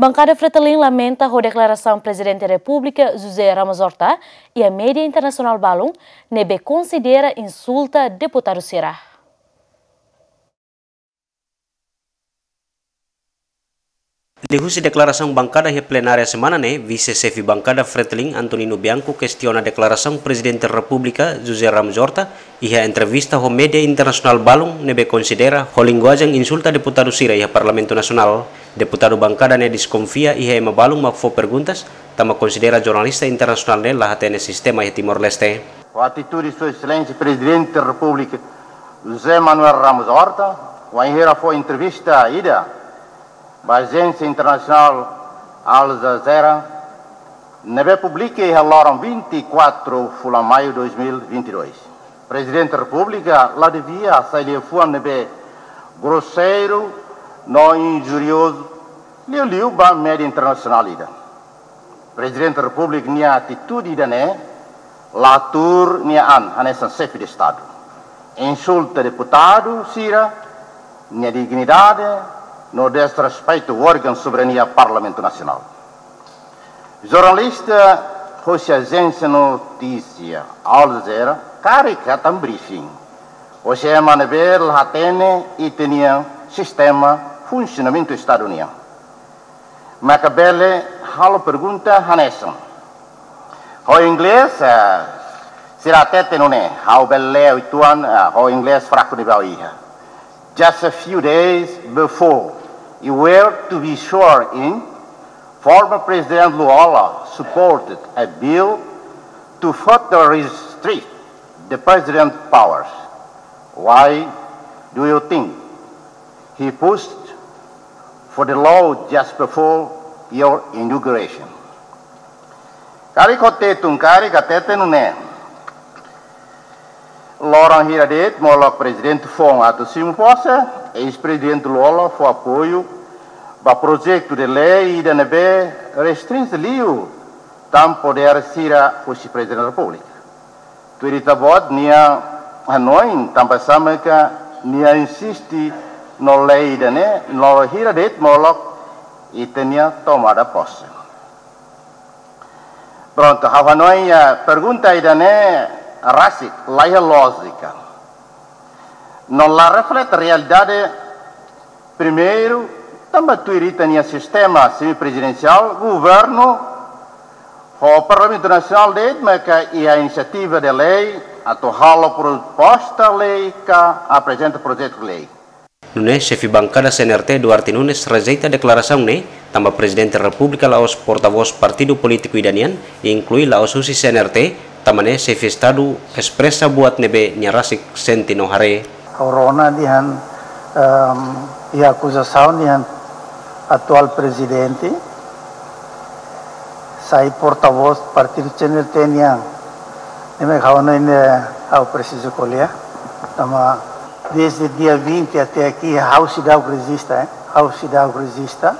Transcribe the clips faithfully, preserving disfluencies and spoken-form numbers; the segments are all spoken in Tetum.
Bankada Fretilin lamenta ho deklarasaun Prezidente Repúblika José Ramos Horta iha média internasionál balun ne'ebé konsidera insulta deputadu sira. Liuhusi deklarasaun bankada iha plenária semana ne'e, Vise-Xefe Bankada Fretilin Antonino Bianco kestiona deklarasaun Prezidente Repúblika José Ramos Horta iha entrevista ho média internasionál balun ne'ebé konsidera ho linguajen insulta deputadu sira iha Parlamentu Nasionál. Deputadu bankada ne'e deskonfia iha ema balun mak fó perguntas, tanba konsidera jornalista internasionál ne'e la hatene sistema iha Timor-Leste. Ho atitude Sua Exelénsia Prezidente Repúblika José Manuel Ramos Horta, wainhira fó entrevista ida ba ajénsia internasionál Al Jazeera, ne'ebé publika iha loron vinte e quatro fulan Maiu dois mil e vinte e dois. Prezidente Repúblika la devia hasai liafuan ne'ebé groseiru no injuriozu liuliu ba média internasionál ida. Prezidente Repúblika nia atitude ida-ne'e la tuur nia an hanesan xefe de Estadu. Insulta deputadu sira nia dignidade no desrespeitu órgaun soberania Parlamentu Nasionál. Jornalista hosi ajénsia notísia Al Jazeera karik hetan briefing hosi ema ne'ebé la hatene ita-nia sistema funsionamentu Estadu nian. Maka bele halo pergunta hanesan. Ho inglés, eh, sira hatete nune'e, ha'u bele lee uitoan, eh, ho inglés fraku ne'ebé ha'u iha. Just a few days before, you were to be sworn in, former President Lú Olo supported a bill to further restrict the president's powers. Why do you think he pushed for the law just before your inauguration? Karik ho Tetun karik hatete nune'e. Loron hira de'it molok Prezidente foun atu simu pose, eis-Prezidente Lú Olo fó apoiu ba projetu de lei ida ne'ebé restrinje liu tan podér sira husi Prezidente Repúblika. Tuir ita-boot nia hanoin tanba sá maka nia insiste no lei ida-ne'e, no hira de'it molok ita-nia tomada pose. Prontu, ha'u hanoin, eh, pergunta ida-ne'e rasik, la iha lójika. No la reflete realidade, primeiru, tanba tuir ita-nia sistema semiprezidensiál, governu ho Parlamentu Nasionál de'it maka iha inisiativa de lei atu halo proposta lei ka aprezenta projetu lei. Nune'e, xefe bankada C N R T Duarte Nunes rejeita deklarasaun ne'e, tanba Prezidente Repúblika la'ós portavós partidu polítiku ida nian, inklui la'ós husi C N R T, tanba ne'e xefe Estadu espresa buat ne'ebé nia rasik sente no haree. Ha'u rona dehan, ehm, iha akuzasaun dehan atuál prezidente sai portavós partidu C N R T nian. Ne'e mak ha'u hanoin ne'e ha'u presiza ko'alia. Tanba desde dia vinte até aqui, ha'u seidauk rejista, eh? Ha'u seidauk rejista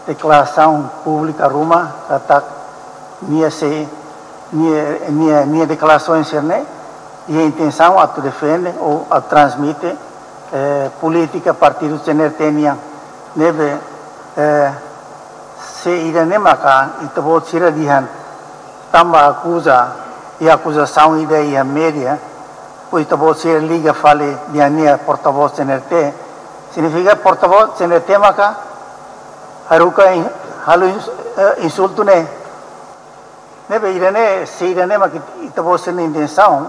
deklarasaun públika ruma katak nia sei, nia, nia, nia deklarasaun sira-ne'e iha intensaun atu defende ou atu transmite, eh, polítika partidu C N R T nian. Ne'ebé, eh, se ida-ne'e maka ita-boot sira dehan tanba akuza iha akuzasaun ida iha média, depois ita-boot sira liga fali dehan nia portavós C N R T, signifika portavós C N R T maka haruka in-, halo ins-, eh, insultu ne'e. Ne'ebé ida-ne'e, se ida-ne'e mak ita-boot sira-nia intensaun,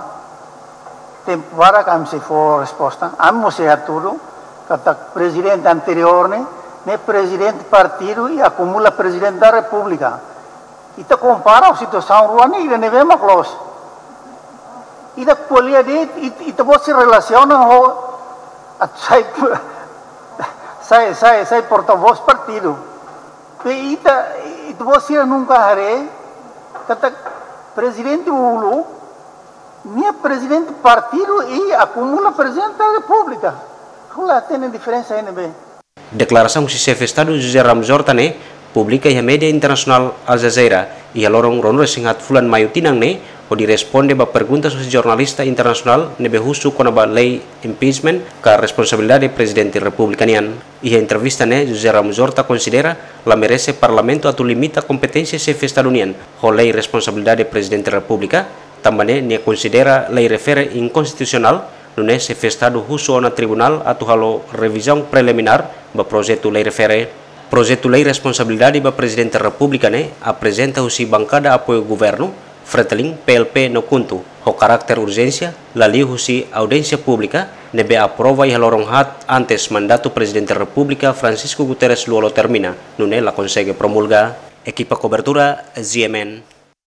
tempu barak ami sei fó resposta, ami mós sei hatudu katak prezidente anteriór ne'e, ne'e prezidente partidu i akumula Prezidente da Repúblika. Ita kompara situasaun rua ne'e, ida ne'ebé mak loos. Ida ko'alia de'it, it-, ita-boot sira relasiona ho atu sai, sai, sai, sai portavós partidu. Pe ita, ita-boot sira nunka haree katak prezidente uluk, nia prezidente partidu i akumula Prezidente da Repúblika. Ha'u la hatene diferensa iha ne'ebé. Deklarasaun husi xefe Estadu José Ramos Horta ne'e publika iha média internasionál Al Jazeera iha loron ruanulu-resin-haat fulan Maiu tinan ne'e, Hodi responde ba perguntas husi jornalista internasionál ne'ebé husu kona-ba lei impeachment ka responsabilidade Prezidente Repúblika nian. Iha entrevista ne'e, José Ramos Horta konsidera la merese Parlamentu atu limita kompeténsia Xefe Estadu nian ho lei responsabilidade Prezidente Repúblika, tanba ne'e nia konsidera lei refere inkonstitusionál, nune'e Xefe Estadu husu ona tribunál atu halo revizaun preliminár ba projetu lei refere. Projetu lei responsabilidade ba Prezidente Repúblika ne'e aprezenta husi bankada apoiu governu, Fretilin, P L P no KHUNTO, ho karakter urjénsia, la liu husi audiénsia públika ne'ebé aprova iha loron haat antes mandatu Prezidente Repúblika Francisco Guterres Lú-Olo termina, nune'e la konsege promulga. Ekipa kobertura, G M N.